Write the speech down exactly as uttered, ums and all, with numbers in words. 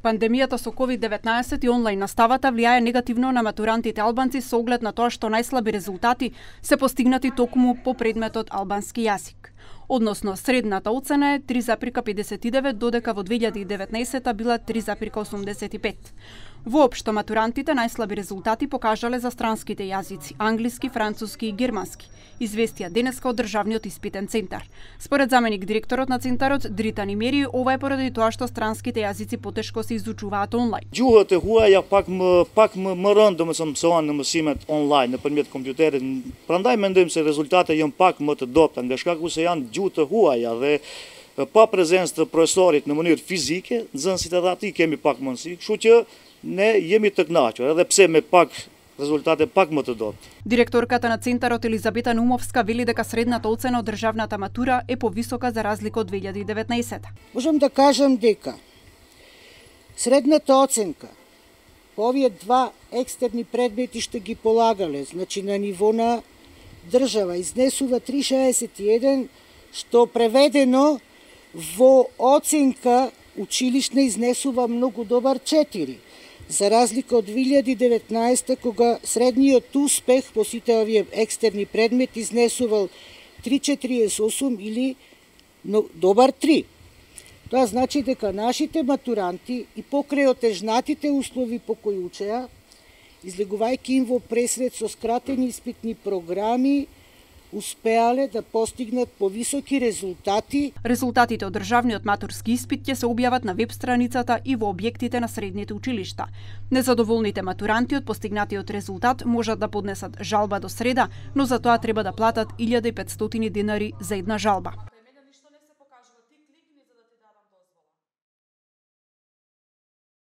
Пандемијата со ковид деветнаесет и онлайн наставата влијае негативно на матурантите албанци со оглед на тоа што најслаби резултати се постигнати токму по предметот албански јазик. Односно, средната оцена е три запирка педесет и девет, додека во две илјади и деветнаесета била три запирка осумдесет и пет. Воопшто, матурантите најслаби резултати покажале за странските јазици, англиски, француски и германски, известија денеска од Државниот испитен центар. Според заменик директорот на центарот, Дрита Нимери, ова е поради тоа што странските јазици потешко се изучуваат онлайн. Gjuhët e huaja pak më pak më më rënd domethënë mësohen në mësimet online nëpërmjet kompjuterit. Prandaj mendojmë se rezultatet janë pak më të dobta, nga shkaku se janë gjuhë të huaja dhe pa prezencë të profesorit në mënyrë fizike, nxënësit edhe aty kemi pak mundësi, kështu që ne jemi të kënaqur, edhe pse me pak резултати пак më të dobta. Директорката на центарот Елизабета Нумовска вели дека средната оцена од државната матура е повисока за разлика од две илјади и деветнаесета. Можам да кажам дека средната оценка по овие два екстерни предмети што ги полагале, значи на ниво на држава, изнесува три целу шеесет и еден, што преведено во оценка училишна изнесува многу добар четири. За разлика од две илјади и деветнаесета, кога средниот успех по сите овие екстерни предмети изнесувал три целу четириесет и осум или добар три. Тоа значи дека нашите матуранти и покрај отежнатите услови по кои учеа, излегувајќи им во пресред со скратени испитни програми, успеале да постигнат повисоки резултати. Резултатите од државниот матурски испит ќе се објават на веб страницата и во објектите на средните училишта. Незадоволните матуранти од постигнатиот резултат можат да поднесат жалба до среда, но за тоа треба да платат илјада и петстотини денари за една жалба.